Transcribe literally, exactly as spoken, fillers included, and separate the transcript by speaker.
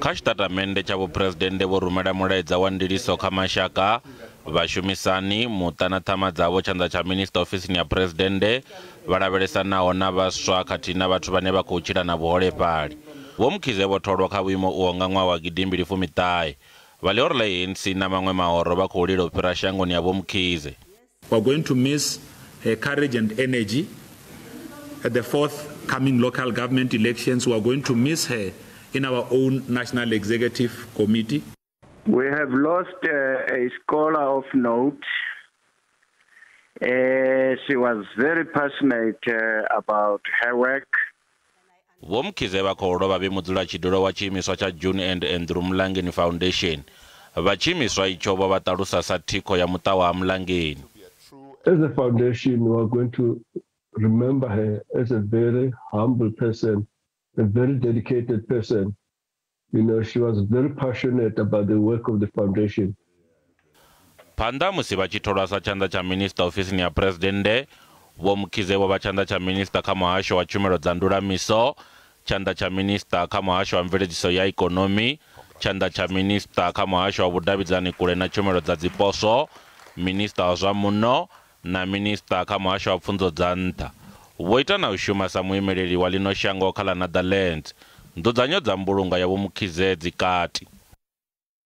Speaker 1: Kha tshitatamennde tsha vhuphuresidennde vho rumela mulaedza wa ndiliso kha mashaka, vhashumisani, muṱa na ṱhama dzavho, tshanḓa tsha minisiṱa ofisini ya phuresidennde, vha lavhelesanaho na vhaswa khathihi na vhathu vhane vha khou tshila na vhuholefhali. Vho Mkhize vho tholwa kha vhuimo uho nga ṅwaha wa gidimbili fumi ṱahe. Vha ḽihoro ḽa A N C na maṅwe mahoro vha khou lila u fhira shangoni ha Vho Mkhize.
Speaker 2: We are going to miss her courage and energy at the forthcoming local government elections. We are going to miss her in our own National Executive Committee.
Speaker 3: We have lost, uh, a scholar of note. Uh, she was very passionate, uh, about her work.
Speaker 1: Vho Mkhize vha khou lovha vhe mudzulatshidulo wa tshiimiswa tsha June and Andrew Mlangeni Foundation. Vha tshiimiswa itsho vho vha ṱalusa sa thikho ya muṱa wa Mlangeni.
Speaker 4: As a foundation, we are going to remember her as a very humble person, a very dedicated person. You know, she was very passionate about the work of the foundation.
Speaker 1: Phanḓa musi vha tshi tholwa sa tshanḓa tsha minisiṱa ofisini ya phuresidennde, Vho Mkhize vho vha tshanḓa tsha minisiṱa kha muhasho wa tshumelo dza ndulamiso, tshanḓa tsha minisiṱa kha muhasho wa mveledziso ya ikonomi, tshanḓa tsha minisiṱa kha muhasho wa vhudavhidzani kule na tshumelo dza dziposwo, minisiṱa wa zwa muno na minisiṱa kha muhasho wa pfunzo dza nṱha. Vho ita na u shuma sa muimeleli wa ḽino shango kha ḽa Netherlands. Nzudzanyo dza mbulungo ya Vho Mkhize dzi kati.